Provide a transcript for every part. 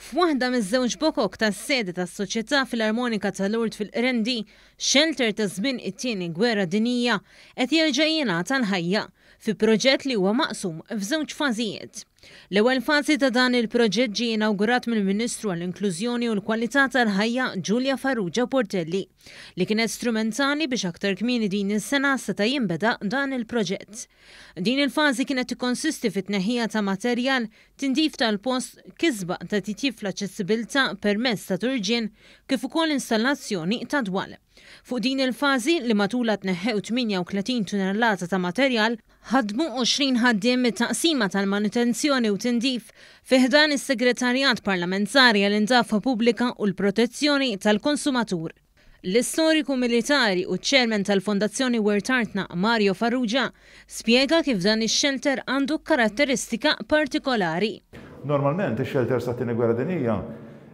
F'waħda miż-żewġ bokok tas-sede tas-Soċjetà Filarmonika ta' Lourdes fil-Qrendi, xelter ta' żmien it-Tieni Gwerra Dinjija qed jerġa' jingħata l-ħajja, fi proġett li huwa maqsum f'żewġ fażijiet. L-ewwel fażi ta' dan il-proġett ġie inawgurat mill-Ministru għall-Inklużjoni u l-Kwalità tal-Ħajja Julia Farrugia Portelli, li kienet strumentali biex aktar kmieni din is-sena seta' jinbeda dan il-proġett. Din il-fażi kienet tikkonsisti fit-tneħħija ta' materjal tindif tal-post, kisba ta' titjib fl-aċċessibilità permezz ta' turġien kif ukoll installazzjoni ta' dwal. Fuq din il-fażi, li matulha tneħħew 38 tunellata ta' materjal, ħadmu 20 ħaddiem mit-Taqsima tal-Manutenzjoni u Tindif fi ħdan is-Segretarjat Parlamentari għall-Indafa Pubblika u l-Protezzjoni tal-Konsumatur. L-istoriku militari u ċ-Chairman tal-Fondazzjoni Wirt Artna, Mario Farrugia, spjega kif dan ix-xelter għandu karatteristika partikolari. Normalment ix-xelters tat-Tieni Gwerra Dinjija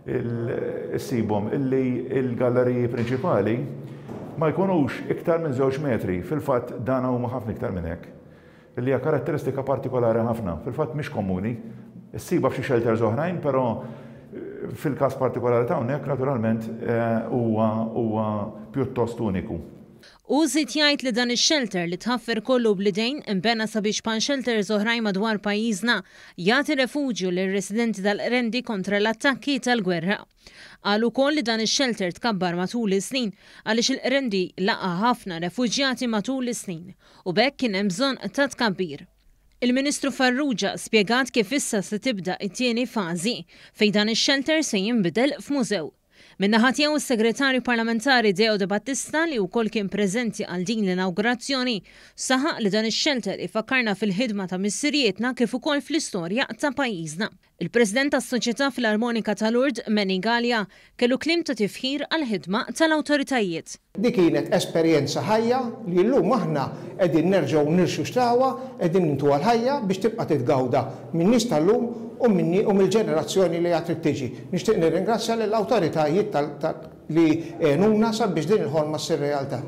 ssibhom illi l-galleriji prinċipali ma jkunux iktar minn żewġ metri, fil-fatt dan huma ħafna iktar minn hekk. li hija karatteristika partikolari ħafna, fil-fatt mhix komuni. Issibha f'xi shelters oħrajn, però fil-każ partikolari ta' hawnhekk naturalment huwa huwa pjuttost uniku. Hu żied jgħid li dan ix-shelter li tħaffer kollu bl-idejn inbena sabiex bħal shelters oħrajn madwar pajjiżna jagħti refuġju lir-residenti tal-Qrendi kontra l-attakki tal-gwerra. Qal ukoll li dan ix-xelter tkabbar matul is-snin għaliex il-Qrendi laqa' ħafna refuġjati matul is-snin u b'hekk kien hemm bżonn ta' tkabbir. Il-Ministru Farrugia spjegat kif issa se tibda t-tieni fażi fejn dan ix-xelter se jinbidel f'mużew. Min-naħa tiegħu s-Segretarju Parlamentari Deo Debattista li wkoll kien preżenti għal din l-inawgurazzjoni saħaq li dan ix-xelter ifakkarna fil-ħidma ta' missirijietna kif ukoll fl-istorja ta' pajjiżna. Il-President tas-Soċjetà Filarmonika ta' Lourdes, Manny Galea, kellu kliem ta' tifħir għall-ħidma tal-awtoritajiet. Dik kienet esperjenza ħajja li llum aħna qegħdin nerġgħu nirxuxtawha, qegħdin nintuha l-ħajja biex tibqa' titgawda min-nies tal-lum u minni u mill-ġenerazzjoni li għad trid tiġi. Nixtieq nirringrazzja lill-awtoritajiet li għenuna sabiex din il-ħolma ssir realtà.